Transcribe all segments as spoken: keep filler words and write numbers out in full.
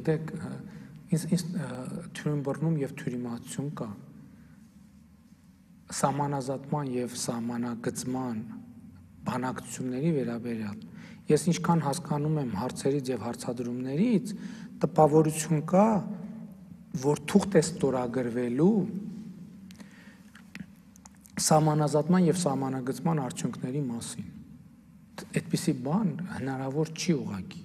գիտեք, ինձ թյուրիմբռնում եւ թյուրիմացություն կա սահմանազատման եւ սահմանագծման բանակցությունների վերաբերյալ։ Ես ինչքան հասկանում եմ հարցերից եւ հարցադրումներից, տպավորություն կա, որ թուղթ է ստորագրվելու սահմանազատման եւ սահմանագծման արդյունքների մասին։ Այդպիսի բան հնարավոր չի ուղղակի։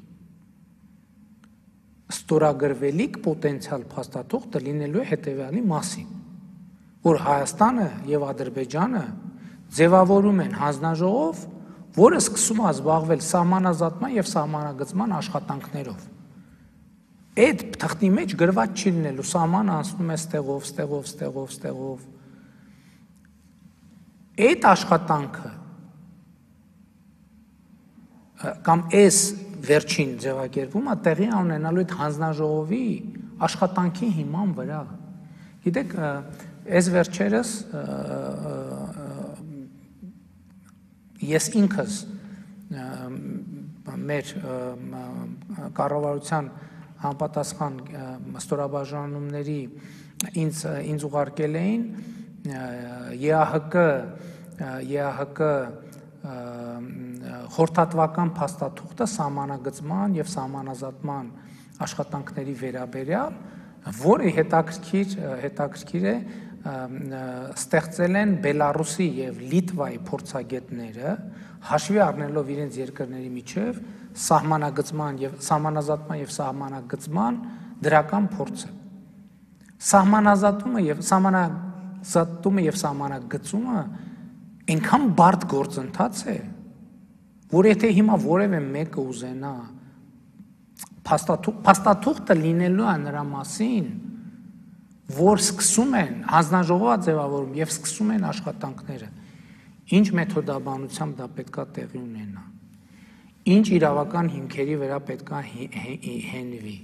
Ստորագրվելիք պոտենցիալ փաստաթուղթը լինելու է հետեւյալի մասին, որ Հայաստանը եւ Ադրբեջանը ձևավորում են հանձնաժողով, որը սկսում է զբաղվել սահմանազատման եւ սահմանագծման աշխատանքներով։ Այդ թղթի մեջ գրված չի լինելու, սահմանը անցնում է ստեղով, ստեղով, ստեղով, ստեղով։ Այդ աշխատանքը կամ այս վերջին ձևակերպումը տեղի ունենալու այդ հանձնաժողովի աշխատանքի հիման վրա։ Գիտեք, այս վերջերս ես ինքս մեր կառավարության համապատասխան ստորաբաժանումների ինձ ինձ ուղարկել էին ԵԱՀԿ ԵԱՀԿ խորհրդատվական փաստաթուղթը սահմանագծման եւ սահմանազատման աշխատանքների վերաբերյալ, որը հետաքրքիր հետաքրքիր է ստեղծել են Բելարուսի եւ Լիտվայի փորձագետները, հաշվի առնելով իրենց երկրների միջև սահմանագծման եւ սահմանազատման եւ սահմանագծման դրական փորձը։ Սահմանազատումը եւ սահմանազատումը եւ սահմանագծումը այնքան բարդ գործընթաց է, որ եթե հիմա որևէ մեկը ուզենա փաստաթուղթը լինելու է նրա մասին, որ սկսում են հանձնաժողովը ձևավորում եւ սկսում են աշխատանքները, ինչ մեթոդաբանությամբ դա պետքա տեղի ունենա, ինչ իրավական հիմքերի վրա պետքա հենվի,